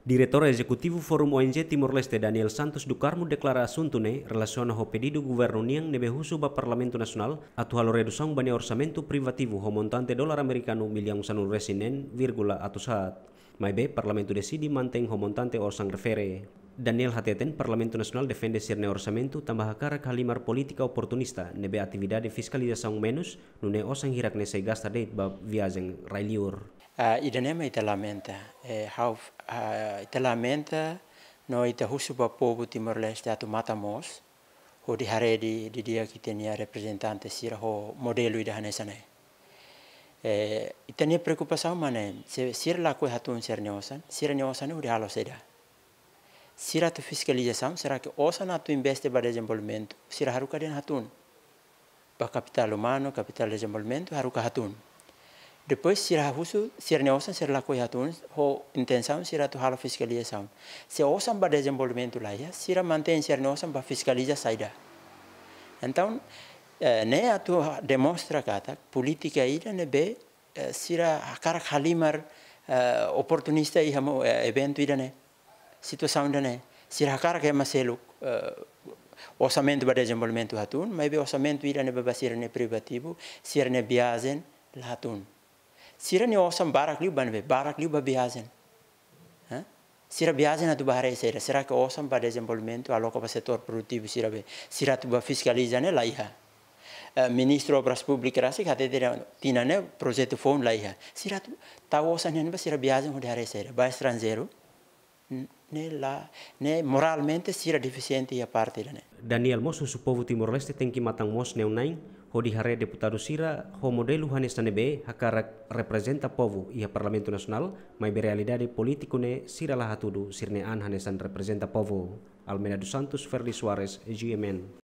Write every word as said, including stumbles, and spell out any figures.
Diretór Ezekutivu Forum O N G Timor-Leste, Daniel Santos do Carmo, deklara asuntu ne'e relasiona ho pedidu governu nian ne'ebé husu ba Parlamentu Nasionál atu halo redusaun ba nia orsamentu privativu ho montante dolar amerikanu millaun sanulu-resin-neen vírgula atus haat. Maibé Parlamentu deside mantein ho montante orsan refere. Daniel hateten Parlamentu Nasionál defende sira-nia orsamentu tanba hakarak halimar polítika oportunista ne'ebé atividade fiskalizasaun menus, nune'e osan hirak ne'e sei gasta de'it ba viajen rai-liur. Ah, ida-ne'e mak ita lamenta, eh, ha'u, ah, ita lamenta no ita husu ba povu Timor-Leste atu matan moos, hodi haree didi'ak ita-nia reprezentante sira ho modelu ida hanesan ne'e. Eh, ita-nia preokupasaun mak ne'e, se sira lakohi hatún sira-nia osan, sira-nia osan ne'e hodi halo saida? Sira atu fiskalizasaun, será que osan atu investe ba dezenvolvimentu, sira haruka dehan hatún? Ba kapitál umanu, kapitál dezenvolvimentu, haruka hatún. Depois sira husu, sira-nia osan sira lakohi hatún, ho intensaun sira atu halo fiskalizasaun. Se osan ba dezenvolvimentu la iha, sira mantein sira-nia osan ba fiskaliza saida? Entaun, eh, ne'e atu ha-, demonstra katak polítika ida ne'ebé, eh, sira hakarak halimar, eh, oportunista iha mo-, eh, eventu ida-ne'e, situasaun ida-ne'e. Sira hakarak ema seluk, eh, orsamentu ba dezenvolvimentu hatún, maibé orsamentu ida ne'ebé ba sira-nia privativu, sira-nia viajen la hatún. Sira-nia osan barak liu ba ne'ebé, barak liu ba viajen. Hã? Sira viajen atu ba haree saida? Será que osan ba dezenvolvimentu aloka ba setór produtivu sira be, sira atu ba fiskaliza ne'e la iha? Eh, Ministru Obras Públikas rasik hatete tinan ne'e projetu foun la iha. Sira atu tau osan ne'e ba sira viajen hodi haree saida? Ba estranjeiru? N-, ne'e la, ne'e moralmente sira defisiente iha parte ida-ne'e. Daniel mós husu povu Timor-Leste tenke matan moos neon-na'in, hodi haree deputadu sira ho modelu hanesan ne'ebé hakarak reprezenta povu iha Parlamentu Nasionál, maibé realidade polítiku ne'e sira la hatudu sira-nia an hanesan reprezenta povu. Almeida dos Santos, Ferdi Soares, G M N.